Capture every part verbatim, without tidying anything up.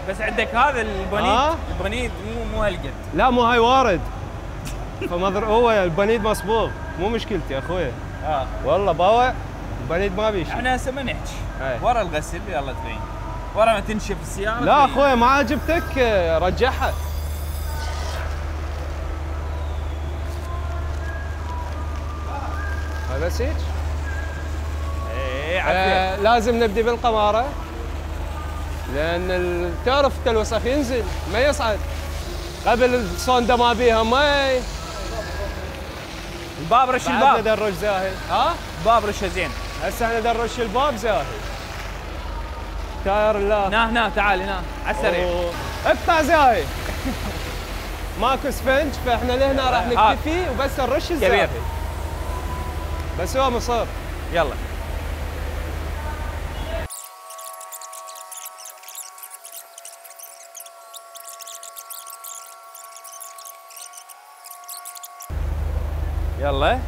بس عندك هذا البنيد آه؟ البنيد مو مو هالقد. لا مو هاي وارد. فمضر هو البنيد مصبوغ مو مشكلتي اخوي. اه والله باوع البنيد ما بيشي. احنا هسه ما نحكي أي. ورا الغسل يلا تبين ورا ما تنشف السياره. لا اخوي ما عجبتك رجعها. هاي بس هيك؟ ايه آه لازم نبدي بالقماره لان ال- تعرف الوسخ ينزل ما يصعد. قبل الصوندا ما بيها مي. الباب رش بعدنا الباب. دروش زاهي. ها؟ الباب رشه زين. هسه احنا درش الباب زاهي. تاير الله. هنا هنا تعال هنا على السريع. اقطع زاهي. ماكو سفنج فاحنا لهنا راح آه. نكتفي وبس نرش الزاهي. كبير. بس هو مصر. يلا يلا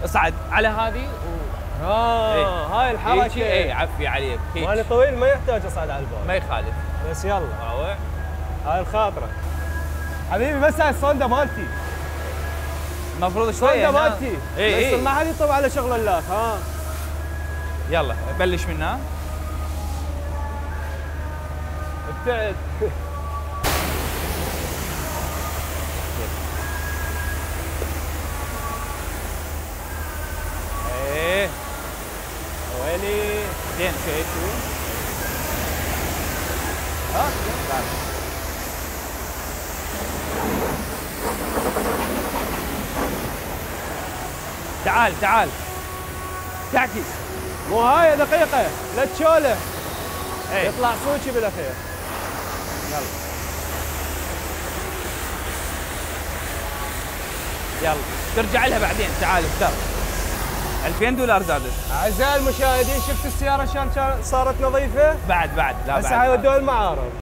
اصعد على هذه و... اه إيه. هاي الحركه. اي عفي عليك هيك. مالي طويل ما يحتاج اصعد على الباب. ما يخالف. بس يلا باوع. هاي الخاطره. حبيبي بس هاي الصوندا مالتي. المفروض شويه الصوندا هنا. مالتي. اي بس اي ما حد يطب على شغل اللاك. ها يلا بلش من هنا. ابتعد. ايه ويلي. زين شوي شوي. ها تعال. تعال تعال تعكس. مو هاي دقيقه لا تشوله. ايه يطلع صوتي بالاخير. يلا يلا ترجع لها بعدين. تعال افتر. ألفين دولار زادت. اعزائي المشاهدين شفت السياره شلون كان- صارت نظيفه؟ بعد بعد لا هسه بعد هاي ودوها المعارض.